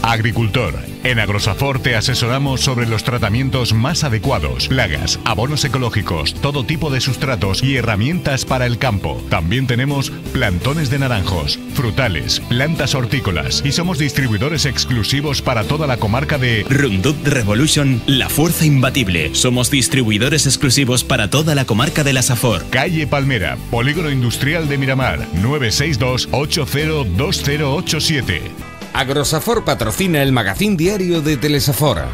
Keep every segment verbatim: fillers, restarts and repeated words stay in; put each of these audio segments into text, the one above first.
Agricultor. En Agrosafor te asesoramos sobre los tratamientos más adecuados, plagas, abonos ecológicos, todo tipo de sustratos y herramientas para el campo. También tenemos plantones de naranjos, frutales, plantas hortícolas y somos distribuidores exclusivos para toda la comarca de Roundup Revolution, la fuerza imbatible. Somos distribuidores exclusivos para toda la comarca de la Safor. Calle Palmera, Polígono Industrial de Miramar, nueve seis dos, ocho cero dos cero ocho siete. Agrosafor patrocina el magazín diario de Telesafora.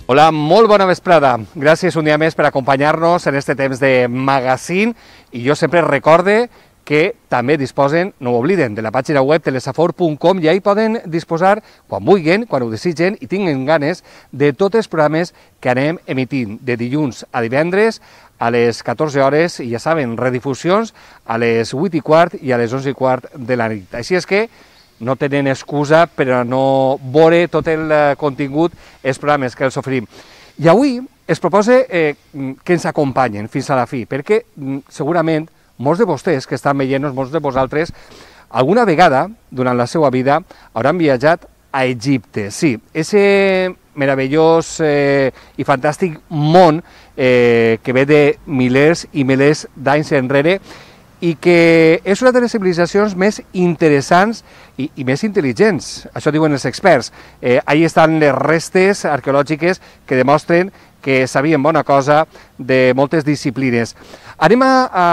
Hola, molt bona vesprada. Gràcies un dia més per acompanyar-nos en este temps de magazine i jo sempre recorde que també disposen, no ho obliden, de la pàgina web telesafor punt com i ahí poden disposar, quan vulguin, quan ho desitgen i tinguin ganes, de tots els programes que anem emitint de dilluns a divendres a les catorze hores i ja saben, redifusions a les vuit i quart i a les onze i quart de la nit. Així és que no tenen excusa per a no veure tot el contingut, els programes que els oferim. I avui es proposa eh, que ens acompanyen fins a la fi, perquè segurament molts de vostès que estan veient-nos, molts de vosaltres, alguna vegada durant la seva vida hauran viatjat a Egipte. Sí, ese meravellós eh, i fantàstic món eh, que ve de milers i milers d'anys enrere i que és una de les civilitzacions més interessants i, i més intel·ligents, això diuen els experts. Eh, ahí estan les restes arqueològiques que demostren que sabien bona cosa de moltes disciplines. Anem a, a,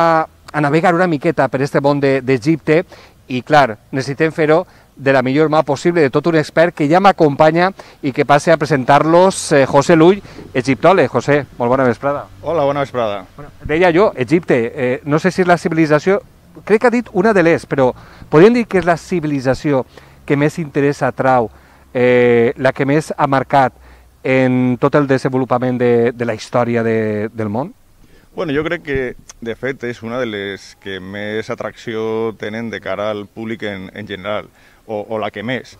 a navegar una miqueta per este món d'Egipte i, clar, necessitem fer-ho de la millor mà possible, de tot un expert que ja m'acompanya i que passe a presentar-los, eh, José Lull, egiptòleg. José, molt bona vesprada. Hola, bona vesprada. Bueno, deia jo, Egipte, eh, no sé si és la civilització, crec que ha dit una de les, però podríem dir que és la civilització que més interès atrau, eh, la que més ha marcat en tot el desenvolupament de, de la història de, del món? Bueno, jo crec que, de fet, és una de les que més atracció tenen de cara al públic en, en general, o, o la que més.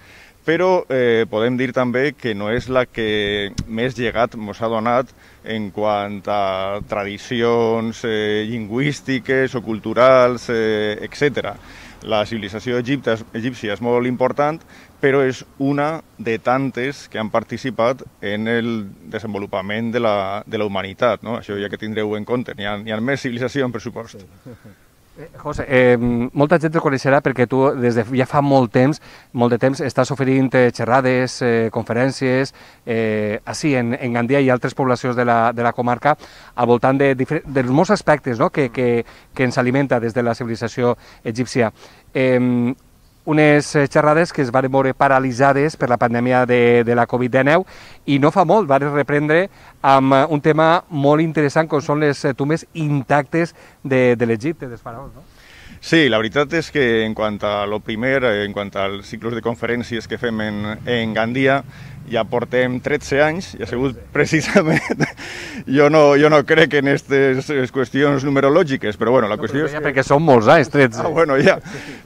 Però eh, podem dir també que no és la que més llegat ens ha donat en quant a tradicions eh, lingüístiques o culturals, eh, etcètera. La civilització egipta, egípcia és molt important, però és una de tantes que han participat en el desenvolupament de la, de la humanitat, no? Això ja que tindreu en compte, n'hi ha, n'hi ha més civilització en pressupost. Eh, José, eh, molta gent el coneixerà perquè tu des de ja fa molt temps, molt de temps, estàs oferint eh, xerrades, eh, conferències, eh, així en, en Gandia i altres poblacions de la, de la comarca, al voltant de, de, de molts aspectes, no?, que, que, que ens alimenta des de la civilització egípcia. Eh, unes xerrades que es van veure paralitzades per la pandèmia de, de la covid dinou i no fa molt van reprendre amb un tema molt interessant com són les tombes intactes de, de l'Egipte, dels faraons, no? Sí, la veritat és que en quant a lo primer, en quant als ciclos de conferències que fem en, en Gandia, ja portem tretze anys i ha sigut precisament... Jo no, jo no crec en aquestes qüestions numerològiques, però bueno, la no, qüestió és que... Perquè són molts anys, tretze. Ah, bueno, ja.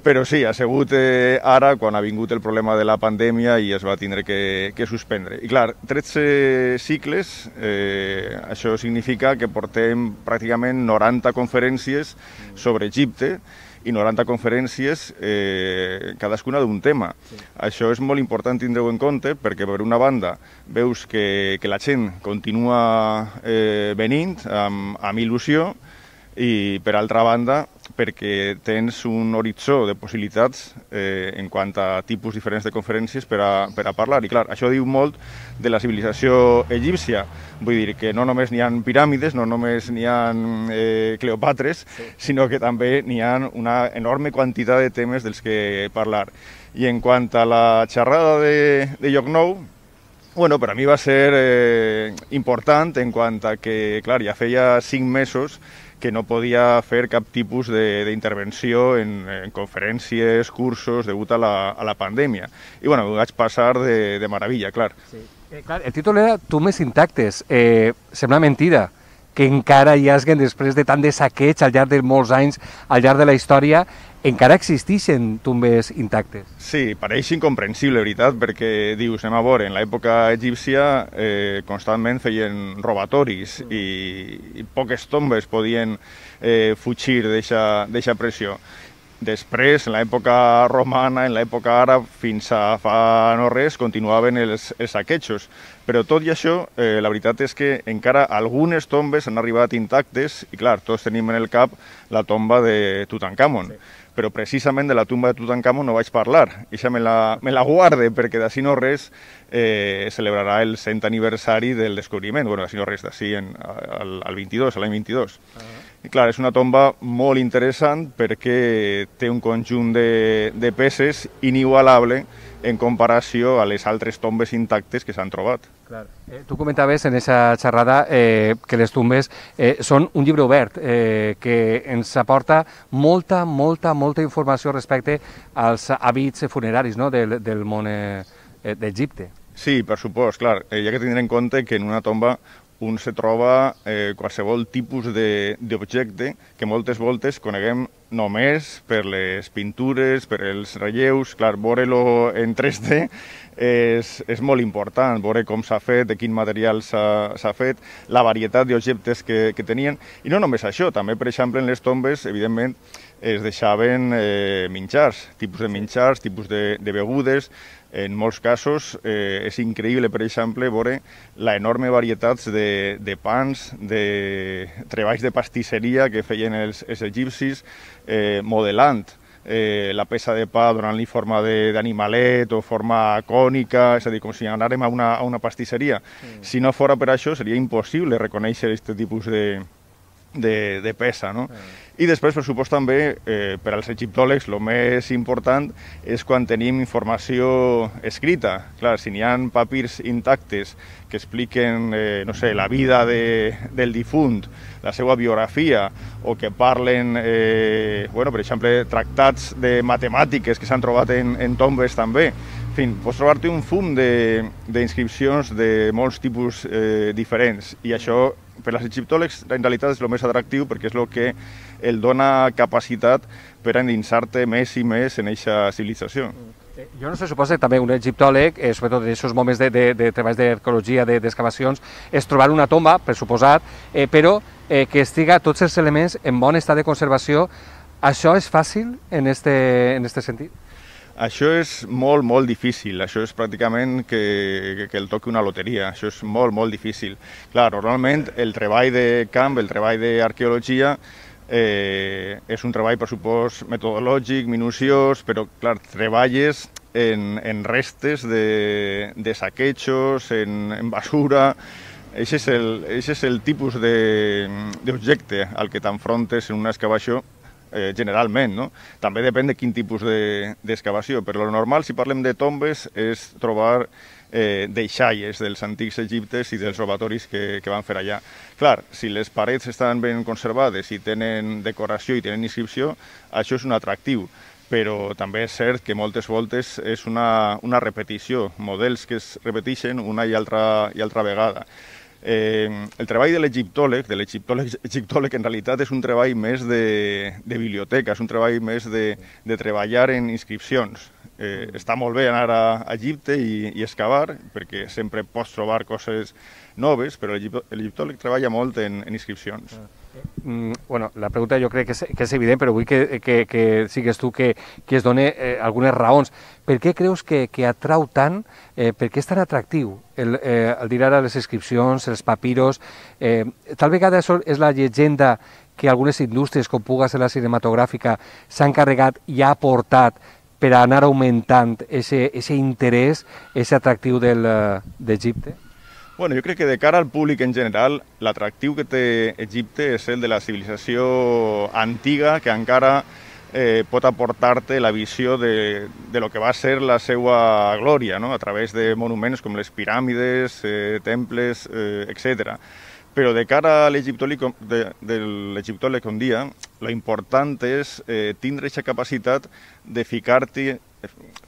Però sí, ha sigut eh, ara quan ha vingut el problema de la pandèmia i es va tindre que, que suspendre. I clar, tretze cicles, eh, això significa que portem pràcticament noranta conferències sobre Egipte, i noranta conferències, eh, cadascuna d'un tema. Sí. Això és molt important tindre-ho en compte perquè, per una banda, veus que, que la gent continua eh, venint amb, amb il·lusió i, per altra banda, perquè tens un horitzó de possibilitats eh, en quant a tipus diferents de conferències per a, per a parlar. I clar, això diu molt de la civilització egípcia. Vull dir que no només n'hi ha piràmides, no només n'hi ha eh, Cleòpatres, sí, sinó que també n'hi ha una enorme quantitat de temes dels que parlar. I en quant a la xerrada de, de Llocnou, bueno, per a mi va ser eh, important en quant a que, clar, ja feia cinc mesos que no podia fer cap tipus d'intervenció en, en conferències, cursos, degut a la, a la pandèmia. I bueno, ho vaig passar de, de meravella, clar. Sí. Eh, clar, el títol era Tombes intactes. Eh, sembla mentida que encara hi haguen, després de tant de saqueig al llarg de molts anys, al llarg de la història, encara existeixen tombes intactes. Sí, pareix incomprensible, veritat, perquè dius, anem a veure, en l'època egípcia eh, constantment feien robatoris i, i poques tombes podien eh, fugir d'aquesta pressió. Després, en l'època romana, en l'època àrab, fins a fa no res, continuaven els, els saquejos. Però tot i això, eh, la veritat és que encara algunes tombes han arribat intactes, i clar, tots tenim en el cap la tomba de Tutankamon. Sí. Però precisament de la tumba de Tutankamon no vaig parlar. Eixa me la, me la guarde, perquè d'ací no res eh, celebrarà el cent aniversari del descobriment. Bueno, d'ací no res, d'ací al, al vint-i-dos, l'any vint-i-dos. Uh-huh. I clar, és una tomba molt interessant perquè té un conjunt de, de peces inigualable en comparació a les altres tombes intactes que s'han trobat. Clar. Eh, tu comentaves en aquesta xerrada eh, que les tombes eh, són un llibre obert eh, que ens aporta molta, molta, molta informació respecte als hàbits funeraris, no?, del, del món eh, d'Egipte. Sí, per supost, clar. Eh, hi ha que tenir en compte que en una tomba un se troba eh, qualsevol tipus d'objecte que moltes voltes coneguem només per les pintures, per els relleus. Clar, veure-lo en tres D és, és molt important, veure com s'ha fet, de quin material s'ha fet, la varietat d'objectes que, que tenien. I no només això, també, per exemple, en les tombes, evidentment, es deixaven eh, menjars, tipus de menjars, tipus de, de begudes. En molts casos eh, és increïble, per exemple, veure la enorme varietat de, de pans, de treballs de pastisseria que feien els, els egipcis, eh, modelant eh, la peça de pa donant-li forma d'animalet o forma cònica, és a dir, com si anàrem a una, a una pastisseria. Mm. Si no fora per això, seria impossible reconèixer aquest tipus de, de, de peça, no? Mm. I després, per supost, també, eh, per als egiptòlegs, el més important és quan tenim informació escrita. Clar, si n'hi ha papirs intactes que expliquen, eh, no sé, la vida de, del difunt, la seva biografia, o que parlen, eh, bueno, per exemple, tractats de matemàtiques que s'han trobat en, en tombes també. En fi, pots trobar-te un fum d'inscripcions de, de molts tipus eh, diferents, i això per als egiptòlegs en realitat és el més atractiu perquè és el que el dona capacitat per endinsar-te més i més en aquesta civilització. Jo no sé, suposa que també un egiptòleg, eh, sobretot en aquests moments de, de, de treballs d'arqueologia, d'excavacions, és trobar una tomba, per suposat, eh, però eh, que estiga tots els elements en bon estat de conservació. Això és fàcil en este, en este sentit? Això és molt, molt difícil. Això és pràcticament que, que el toqui una loteria. Això és molt, molt difícil. Clar, normalment el treball de camp, el treball d'arqueologia, eh, és un treball, per supost, metodològic, minuciós, però, clar, treballes en, en restes de, de saquejos, en, en basura. Això és el, això és el tipus d'objecte al que t'enfrontes en una excavació, Eh, generalment, no? També depèn de quin tipus d'excavació, de, però lo normal, si parlem de tombes, és trobar eh, deixalles dels antics egiptes i dels robatoris que, que van fer allà. Clar, si les parets estan ben conservades i tenen decoració i tenen inscripció, això és un atractiu, però també és cert que moltes voltes és una, una repetició, models que es repeteixen una i altra, i altra vegada. Eh, el treball de l'egiptòleg, de l'egiptòleg egiptòleg, en realitat és un treball més de, de biblioteca, és un treball més de, de treballar en inscripcions. Eh, està molt bé anar a Egipte i, i excavar, perquè sempre pots trobar coses noves, però l'egiptòleg treballa molt en, en inscripcions. Mm, bueno, la pregunta jo crec que és, que és evident, però vull que, que, que sigues tu que, que es doni eh, algunes raons. Per què creus que, que atrau tant, eh, per què és tan atractiu el, eh, el dir ara les inscripcions, els papiros? Eh, tal vegada això és la llegenda que algunes indústries, com puga ser la cinematogràfica, s'han encarregat i ha aportat per anar augmentant aquest interès, aquest atractiu d'Egipte? Bueno, jo crec que de cara al públic en general, l'atractiu que té Egipte és el de la civilització antiga que encara eh, pot aportar-te la visió de, de lo que va ser la seva glòria, no? A través de monuments com les piràmides, eh, temples, eh, etcètera. Però de cara a l'egiptòleg de, de l'egiptòleg un dia, lo important és eh, tindre aquesta capacitat de ficar-te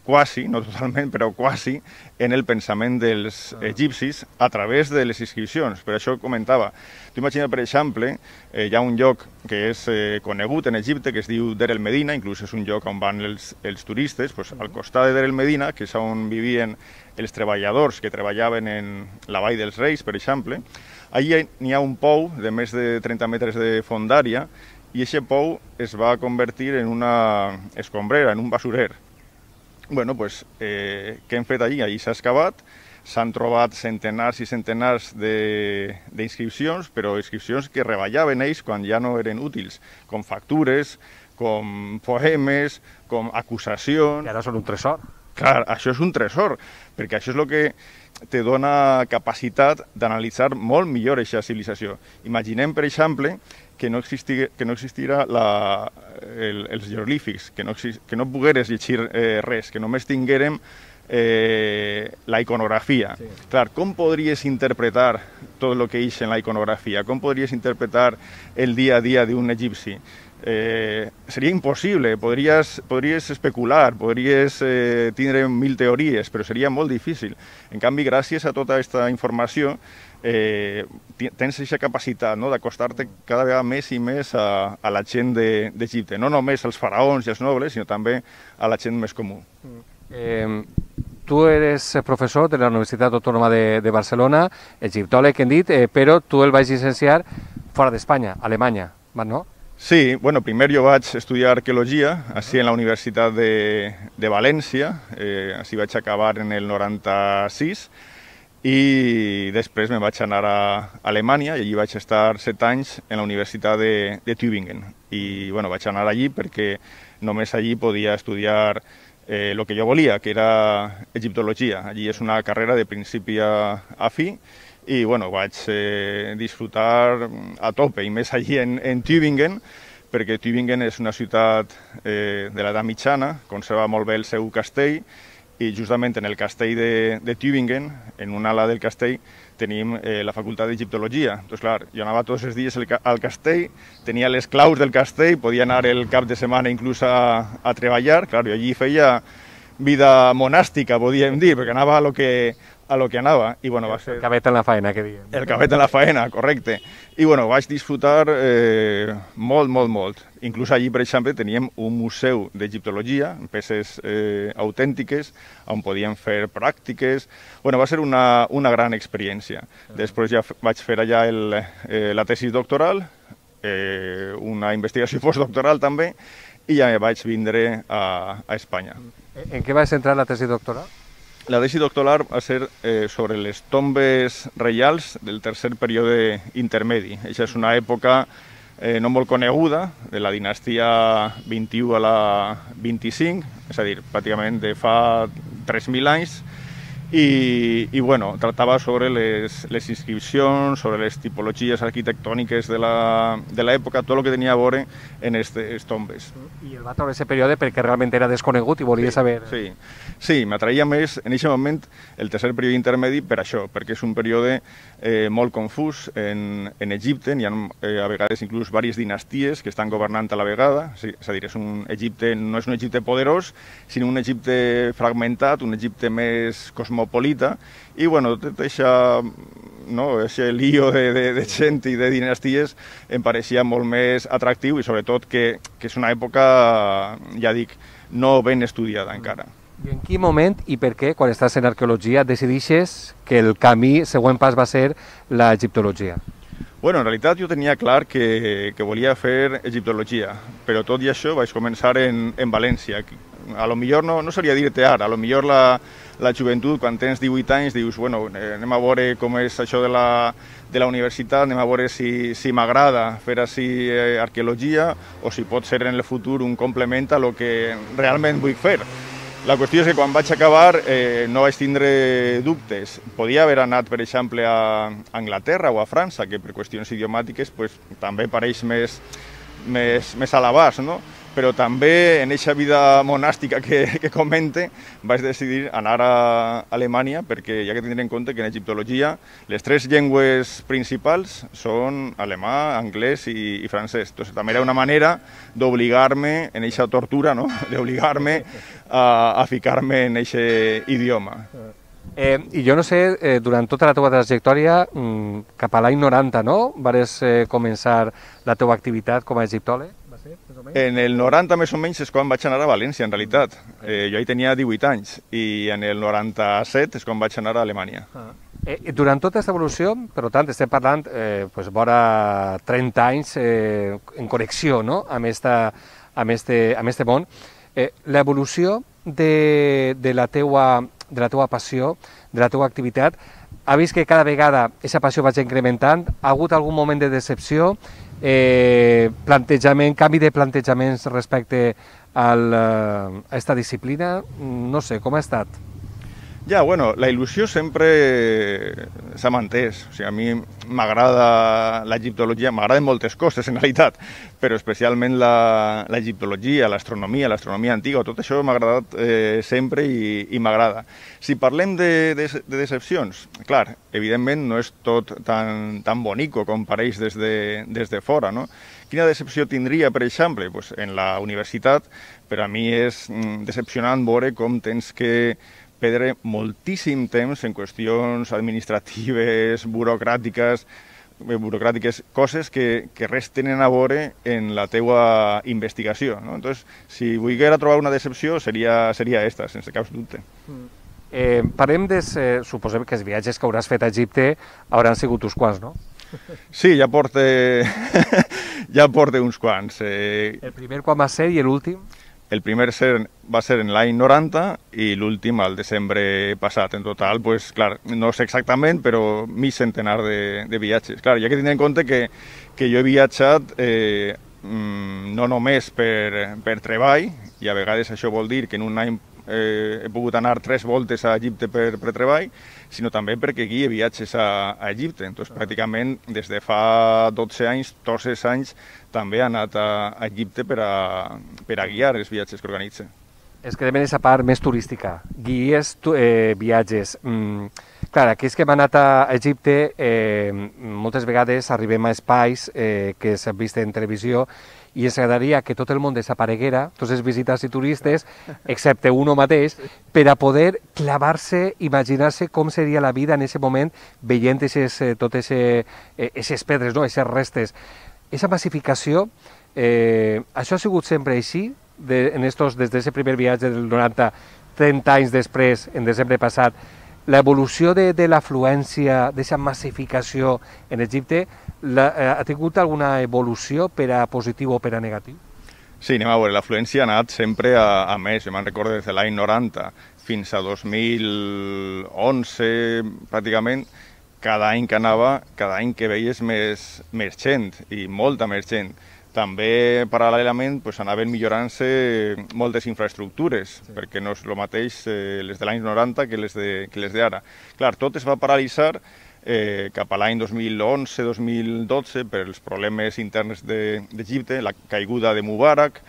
quasi, no totalment, però quasi, en el pensament dels egipcis a través de les inscripcions. Per això comentava. Tu imagina, per exemple, eh, hi ha un lloc que és eh, conegut en Egipte, que es diu Der el Medina, inclús és un lloc on van els, els turistes, pues, al costat de Der el Medina, que és on vivien els treballadors que treballaven en la Vall dels Reis, per exemple, allà n'hi ha un pou de més de trenta metres de fondària i aquest pou es va convertir en una escombrera, en un basurer. Bueno, pues, eh, què hem fet allí? Allí s'ha excavat, s'han trobat centenars i centenars d'inscripcions, però inscripcions que reballaven ells quan ja no eren útils, com factures, com poemes, com acusacions... I ara són un tresor. Clar, això és un tresor, perquè això és el que te dona capacitat d'analitzar molt millor aquesta civilització. Imaginem, per exemple, que no, existi, que no existirà la, el, els jeroglífics, que no, que no pogueres llegir eh, res, que només tinguérem eh, la iconografia. Sí. Clar, com podries interpretar tot el que hi ha en la iconografia? Com podries interpretar el dia a dia d'un egipci? Eh, seria impossible, podries, podries especular, podries eh, tindre mil teories, però seria molt difícil. En canvi, gràcies a tota aquesta informació, eh, tens aquesta capacitat, no?, d'acostar-te cada vegada més i més a, a la gent d'Egipte, no només als faraons i als nobles, sinó també a la gent més comú. Eh, tu eres professor de la Universitat Autònoma de, de Barcelona, egiptòleg, hem dit, eh, però tu el vaig llicenciar fora d'Espanya, a Alemanya, no? Sí, bueno, primer jo vaig estudiar arqueologia, així en la Universitat de, de València, eh, així vaig acabar en el noranta-sis, i després me vaig anar a Alemanya i allí vaig estar set anys en la Universitat de, de Tübingen. I bueno, vaig anar allí perquè només allí podia estudiar eh, el que jo volia, que era egiptologia. Allí és una carrera de principi a, a fi, i bueno, vaig eh, disfrutar a tope, i més allí en, en Tübingen, perquè Tübingen és una ciutat eh, de l'edat mitjana, conserva molt bé el seu castell, i justament en el castell de, de Tübingen, en una ala del castell, tenim eh, la facultat d'egiptologia. Doncs clar, jo anava tots els dies al castell, tenia les claus del castell, podia anar el cap de setmana inclús a, a treballar. Clar, jo allí feia vida monàstica, podríem dir, perquè anava a lo que, a lo que anava. I, bueno, va ser... El cabet en la faena, que diem. El cabet en la faena, correcte. I bueno, vaig disfrutar eh, molt, molt, molt. Inclús allí, per exemple, teníem un museu d'egiptologia, peces eh, autèntiques, on podíem fer pràctiques. Bueno, va ser una, una gran experiència. Després ja vaig fer allà el, eh, la tesi doctoral, eh, una investigació postdoctoral també, i ja vaig vindre a, a Espanya. En què vas centrar la tesi doctoral? La tesi doctoral va ser eh, sobre les tombes reials del tercer període intermedi. Això és una època eh, no molt coneguda, de la dinastia vint-i-u a la vint-i-cinc, és a dir, pràcticament de fa tres mil anys, i, i bueno, tractava sobre les, les inscripcions, sobre les tipologies arquitectòniques de l'època, tot el que tenia a veure en aquestes tombes. I el va trobar aquest període perquè realment era desconegut i volia sí, saber... Sí, sí, m'atraïa més en aquest moment el tercer període intermedi per això, perquè és un període eh, molt confús en, en Egipte, hi ha eh, a vegades inclús diverses dinasties que estan governant a la vegada, sí, és a dir, és un Egipte, no és un Egipte poderós, sinó un Egipte fragmentat, un Egipte més cosmopolita, i bueno, tot això, no, aquest lío de, de, de gent i de dinasties em pareixia molt més atractiu, i sobretot que, que és una època, ja dic, no ben estudiada encara. I en quin moment i per què, quan estàs en arqueologia, decidixes que el camí, següent pas, va ser la egiptologia? Bueno, en realitat jo tenia clar que, que volia fer egiptologia, però tot i això vaig començar en, en València. A lo millor no, no seria dir-te ara, a lo millor la, la joventut, quan tens divuit anys, dius, bueno, anem a veure com és això de la, de la universitat, anem a veure si, si m'agrada fer així eh, arqueologia, o si pot ser en el futur un complement a lo que realment vull fer. La qüestió és que quan vaig acabar eh, no vaig tindre dubtes. Podia haver anat, per exemple, a Anglaterra o a França, que per qüestions idiomàtiques pues, també pareix més, més, més a l'abast, no? però també en aquesta vida monàstica que, que comente vaig decidir anar a Alemanya perquè hi ha que tenir en compte que en egiptologia les tres llengües principals són alemà, anglès i, i francès. Entonces, també era una manera d'obligar-me en aquesta tortura, no? d'obligar-me a, a ficar-me en aquest idioma. Eh, I jo no sé, eh, durant tota la teva trajectòria, mm, cap a l'any noranta, no? Vares eh, començar la teva activitat com a egiptòleg? Va ser, més o menys? En el noranta, més o menys, és quan vaig anar a València, en realitat. Eh, jo hi tenia divuit anys, i en el noranta-set és quan vaig anar a Alemanya. Ah. Eh, durant tota aquesta evolució, per tant, estem parlant eh, pues, vora trenta anys eh, en connexió, no? amb, esta, amb, este, amb este món, eh, l'evolució de, de la teua de la teva passió, de la teva activitat, ha vist que cada vegada aquesta passió vaig incrementant, ha hagut algun moment de decepció, eh, plantejament, canvi de plantejaments respecte al, a aquesta disciplina, no sé, com ha estat? Ja, bueno, la il·lusió sempre s'ha mantès. O sigui, a mi m'agrada l'egiptologia, m'agraden moltes coses en realitat, però especialment l'egiptologia, l'astronomia, l'astronomia antiga, tot això m'ha agradat eh, sempre i, i m'agrada. Si parlem de, de, de decepcions, clar, evidentment no és tot tan, tan bonico com pareix des de, des de fora, no? Quina decepció tindria, per exemple? Pues en la universitat, per a mi és mm, decepcionant veure com tens que perdre moltíssim temps en qüestions administratives, burocràtiques, burocràtiques, coses que, que res tenen a veure en la teua investigació. No? Entonces, si volguera trobar una decepció, seria, seria esta, sense cap dubte. Eh, parlem de... Eh, suposem que els viatges que hauràs fet a Egipte hauran sigut uns quants, no? Sí, ja porte, ja porte uns quants. Eh... El primer quan va ser i l'últim? El primer ser, va ser en l'any noranta i l'últim al desembre passat. En total, pues, clar, no sé exactament, però mig centenar de, de viatges. Clar, hi ha que tenir en compte que, que jo he viatjat eh, no només per, per treball, i a vegades això vol dir que en un any eh, he pogut anar tres voltes a Egipte per, per treball, sinó també perquè aquí hi ha viatges a, a Egipte. Entonces, pràcticament, des de fa dotze anys, tots els anys, també ha anat a, a Egipte per a, per a guiar els viatges que organitza. És que depèn d'aquesta part més turística. Guies eh, viatges. Mm, clar, aquells que hem anat a Egipte, eh, moltes vegades arribem a espais eh, que s'han vist en televisió i ens agradaria que tot el món desapareguera, tots els visitants i turistes, excepte uno mateix, per a poder clavar-se, imaginar-se com seria la vida en aquest moment veient aquestes, eh, totes aquestes eh, pedres, no? aquestes restes. Aquesta massificació, eh, això ha sigut sempre així, de, en estos, des d'aquest primer viatge del noranta, trenta anys després, en desembre passat, l'evolució de, de l'afluència, d'aquesta massificació en Egipte, la, eh, ha tingut alguna evolució per a positiu o per a negatiu? Sí, anem a veure, l'afluència ha anat sempre a, a més. Jo me'n recordo des de l'any noranta fins a dos mil onze, pràcticament, cada any que anava, cada any que veies més, més gent, i molta més gent. També, paral·lelament, pues, anaven millorant-se moltes infraestructures, sí. perquè no és el mateix eh, les de l'any noranta que les d'ara. Clar, tot es va paralitzar eh, cap a l'any dos mil onze dos mil dotze per els problemes interns d'Egipte, la caiguda de Mubarak,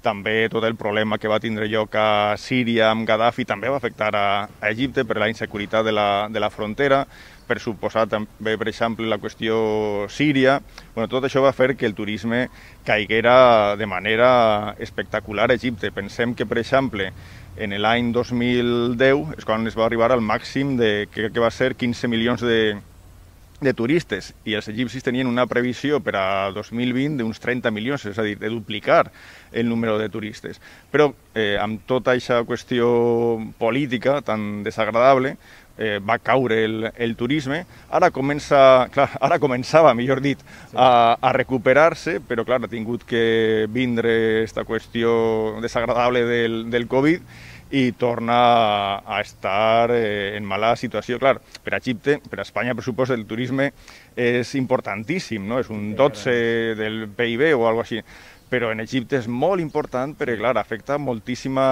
també tot el problema que va tindre lloc a Síria amb Gaddafi també va afectar a, a Egipte per la inseguretat de la, de la frontera, per suposar també, per exemple, la qüestió síria. Bueno, tot això va fer que el turisme caiguera de manera espectacular a Egipte. Pensem que, per exemple, en l'any dos mil deu és quan es va arribar al màxim de, que, que va ser quinze milions de, de turistes, i els egipcis tenien una previsió per a dos mil vint d'uns trenta milions, és a dir, de duplicar el número de turistes. Però eh, amb tota aquesta qüestió política tan desagradable, Eh, va caure el, el turisme, ara comença, clar, ara començava, millor dit, a, a recuperar-se, però clar, ha tingut que vindre aquesta qüestió desagradable del, del Covid i torna a, a estar eh, en mala situació. Clar, per a Egipte, per a Espanya, per suposo, el turisme és importantíssim, no? És un dotze del P I B o alguna cosa així. Però en Egipte és molt important perquè, clar, afecta moltíssima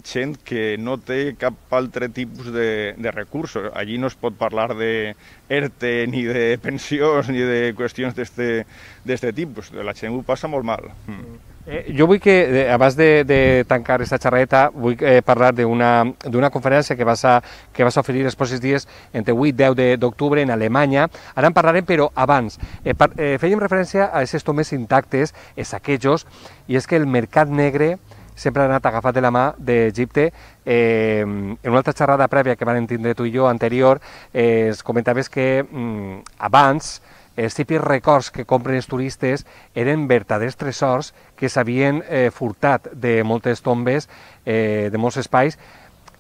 gent que no té cap altre tipus de, de recursos. Allí no es pot parlar de ERTE, ni de pensions, ni de qüestions d'este tipus. La gent ho passa molt mal. Mm. Eh, jo vull que, eh, abans de, de tancar aquesta xerradeta, vull eh, parlar d'una conferència que vas, a, que vas a oferir els pròxims dies entre vuit i deu d'octubre en Alemanya. Ara en parlarem, però abans. Eh, par, eh, fèiem referència a aquests tombes intactes, els saquejos, i és que el mercat negre sempre ha anat agafat de la mà d'Egipte. Eh, en una altra xerrada prèvia que van tindre tu i jo anterior, eh, es comentaves que mm, abans els típics records que compren els turistes eren verdaders tresors que s'havien eh, furtat de moltes tombes, eh, de molts espais,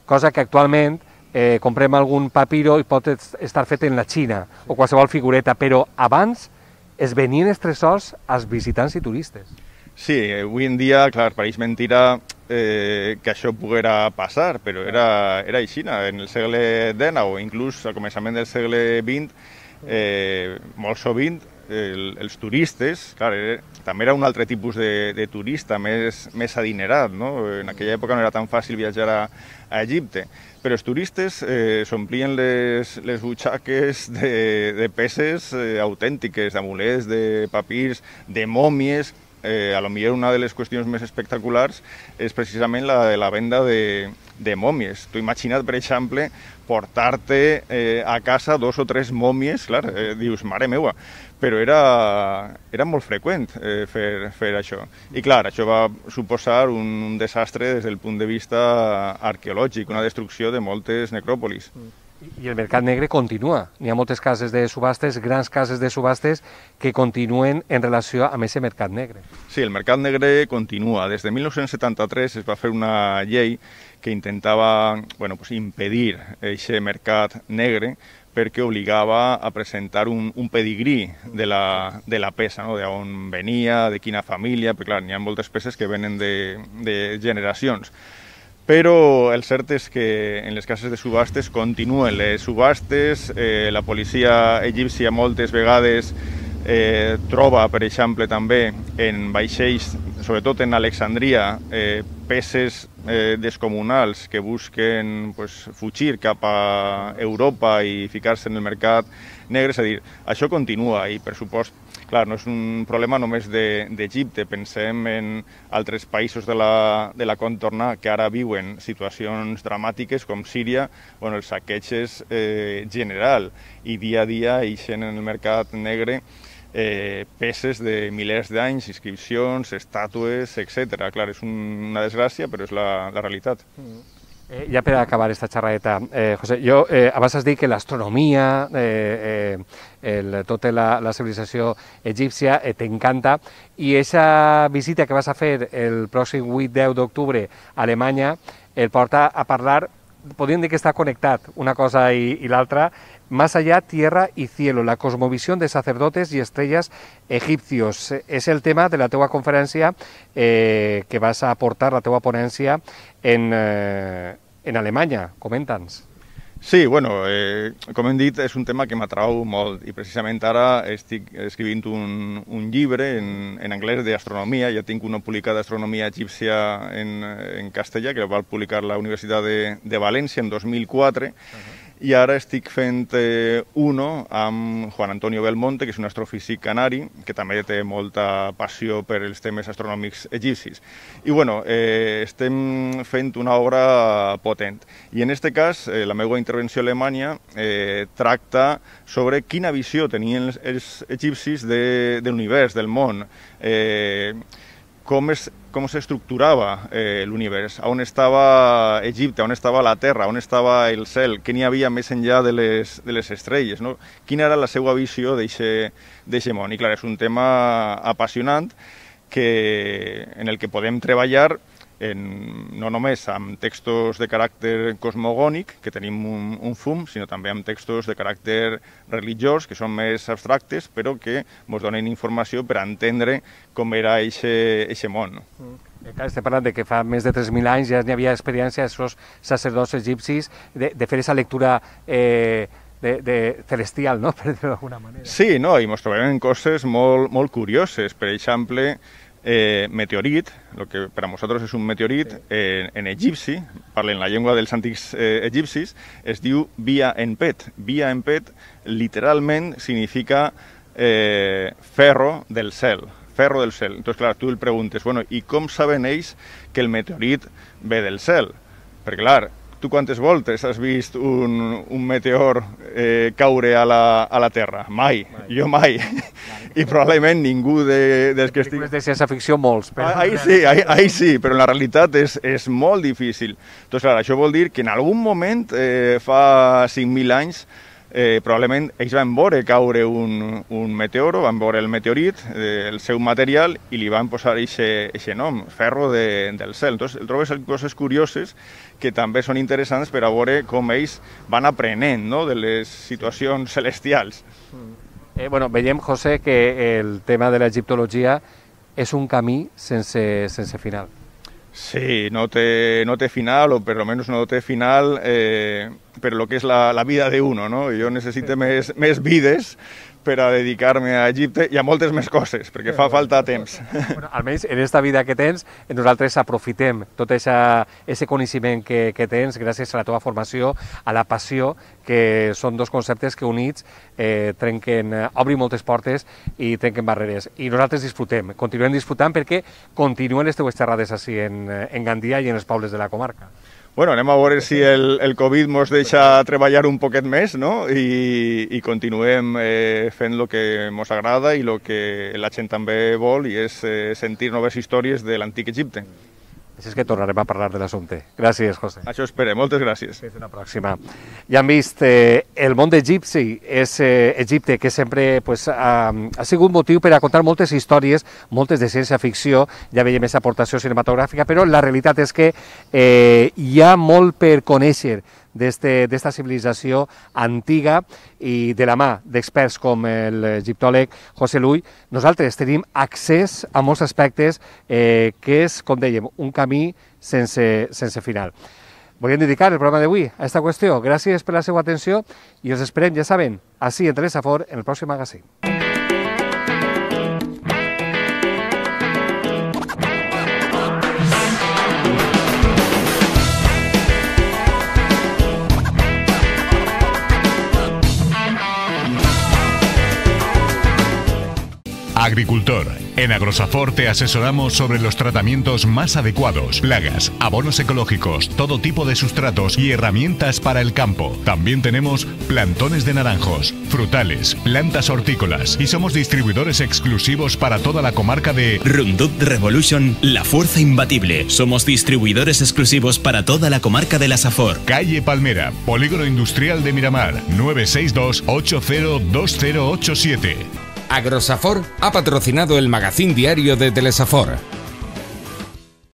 cosa que actualment eh, comprem algun papiro i pot estar fet en la Xina o qualsevol figureta, però abans es venien els tresors als visitants i turistes. Sí, avui en dia, clar, pareix mentira eh, que això poguera passar, però era, era així. En el segle dinou, inclús al començament del segle vint, eh, molt sovint el, els turistes, clar, era, també era un altre tipus de, de turista, més, més adinerat, no? En aquella època no era tan fàcil viatjar a, a Egipte, però els turistes eh, s'omplien les, les butxaques de, de peces eh, autèntiques, d'amulets, de papirs, de mòmies. Eh, a lo millor una de les qüestions més espectaculars és precisament la de la venda de, de mòmies. Tu imagina't, per exemple, portar-te eh, a casa dos o tres mòmies, clar, eh, dius, mare meua, però era, era molt freqüent eh, fer, fer això. I clar, això va suposar un, un desastre des del punt de vista arqueològic, una destrucció de moltes necròpolis. I el mercat negre continua. N'hi ha moltes cases de subhastes, grans cases de subhastes, que continuen en relació amb aquest mercat negre. Sí, el mercat negre continua. Des de mil nou-cents setanta-tres es va fer una llei que intentava bueno, pues impedir aquest mercat negre perquè obligava a presentar un, un pedigrí de la, de la peça, no? d'on venia, de quina família, perquè clar, n'hi ha moltes peces que venen de, de generacions. Però el cert és que en les cases de subhastes continuen les subhastes, eh, la policia egípcia moltes vegades eh, troba, per exemple, també en vaixells, sobretot en Alexandria, eh, peces eh, descomunals que busquen pues, fugir cap a Europa i ficar-se en el mercat negre. És a dir, això continua i, per supost, clar, no és un problema només d'Egipte, pensem en altres països de la, de la contorna que ara viuen situacions dramàtiques com Síria, bueno, els saqueig eh, general i dia a dia ixen en el mercat negre eh, peces de milers d'anys, inscripcions, estàtues, etcètera. Clar, és un, una desgràcia, però és la, la realitat. Eh, ja per acabar aquesta xerradeta, eh, José, jo eh, abans has dit que l'astronomia, eh, eh, tota la, la civilització egípcia eh, t'encanta, i aquesta visita que vas a fer el pròxim vuit deu d'octubre a Alemanya el porta a parlar, podríem dir que està connectat una cosa i, i l'altra, Más allá, tierra y cielo, la cosmovisión de sacerdotes y estrellas egipcios. És el tema de la teua conferència eh, que vas a aportar, la teua ponència, en, eh, en Alemanya. Comenta'ns. Sí, bueno, eh, com hem dit, és un tema que m'atrau molt i precisament ara estic escrivint un, un llibre en, en anglès d'astronomia. Ja tinc una publicada d'astronomia egípcia en, en castellà, que va publicar la Universitat de, de València en dos mil quatre, uh-huh. I ara estic fent eh, uno amb Juan Antonio Belmonte, que és un astrofísic canari, que també té molta passió per els temes astronòmics egipcis. I bueno, eh, estem fent una obra potent. I en aquest cas, eh, la meva intervenció a Alemanya eh, tracta sobre quina visió tenien els, els egipcis de, de l'univers, del món, eh, com es com s'estructurava eh, l'univers, on estava Egipte, on estava la Terra, on estava el cel, què n'hi havia més enllà de les, de les estrelles, no? Quina era la seva visió d'aquest món. I clar, és un tema apassionant que, en el que podem treballar en, no només amb textos de caràcter cosmogònic, que tenim un, un fum, sinó també amb textos de caràcter religiós, que són més abstractes, però que ens donen informació per entendre com era aquest món. Mm. Estem parlant de que fa més de tres mil anys ja n'hi havia experiència d'aquests sacerdots egipcis de, de fer aquesta lectura eh, de, de celestial, no? Per dir-ho d'alguna manera. Sí, no, i ens trobem coses molt, molt curioses. Per exemple, Eh, meteorit, el que per a nosaltres és un meteorit, sí. eh, en egipci, parlen la llengua dels antics eh, egipcis, es diu Bia Enpet. Bia Enpet literalment significa eh, ferro del cel. ferro del cel. Entonces, clar, tu el preguntes, bueno, i com saben ells que el meteorit ve del cel? Perquè, clar, tu quantes voltes has vist un, un meteor eh, caure a la, a la Terra? Mai, mai. Jo mai. mai. I probablement ningú de, dels que estic... de ciència-ficció molts. Però... Ahí sí, ahí, ahí sí, però en la realitat és, és molt difícil. Doncs clar, això vol dir que en algun moment, eh, fa cinc mil anys, eh, probablement ells van veure caure un, un meteoro, van veure el meteorit, eh, el seu material, i li van posar aquest nom, ferro de, del cel. Entonces, el trobes coses curioses que també són interessants per a veure com ells van aprenent, no?, de les situacions celestials. Eh, bueno, veiem, José, que el tema de l'egiptologia és un camí sense, sense final. Sí, no té, no té final, o per almenys no té final eh, per lo que és la, la vida de uno, no? Jo necessito més, més vides per a dedicar-me a Egipte i a moltes més coses, perquè fa falta temps. Bueno, almenys en aquesta vida que tens, nosaltres aprofitem tot aquest coneixement que, que tens gràcies a la teva formació, a la passió, que són dos conceptes que units eh, trenquen, obrin moltes portes i trenquen barreres. I nosaltres disfrutem, continuem disfrutant perquè continuen les teues xerrades així en, en Gandia i en els pobles de la comarca. Bueno, anem a veure si el, el Covid ens deixa treballar un poquet més, no?, i, i continuem eh, fent el que ens agrada i el que la gent també vol, i és eh, sentir noves històries de l'antic Egipte. Així és que tornarem a parlar de l'assumpte. Gràcies, José. Això espero. Moltes gràcies. Fins una pròxima. Ja hem vist, eh, el món d'Egipci és eh, Egipte, que sempre pues, ha, ha sigut motiu per a contar moltes històries, moltes de ciència-ficció, ja veiem aquesta aportació cinematogràfica, però la realitat és que eh, hi ha molt per conèixer d'esta civilització antiga, i de la mà d'experts com l'egiptòleg José Lull, nosaltres tenim accés a molts aspectes eh, que és, com dèiem, un camí sense, sense final. Volíem dedicar el programa d'avui a aquesta qüestió. Gràcies per la seva atenció i els esperem, ja saben, així en Telesafor, en el pròxim magazín. Agricultor. En Agrosafor te asesoramos sobre los tratamientos más adecuados, plagas, abonos ecológicos, todo tipo de sustratos y herramientas para el campo. También tenemos plantones de naranjos, frutales, plantas hortícolas y somos distribuidores exclusivos para toda la comarca de Roundup Revolution, la fuerza imbatible. Somos distribuidores exclusivos para toda la comarca de la Safor. Calle Palmera, Polígono Industrial de Miramar, nueve seis dos, ocho cero dos cero ocho siete. Agrosafor ha patrocinado el magazín diario de Telesafor.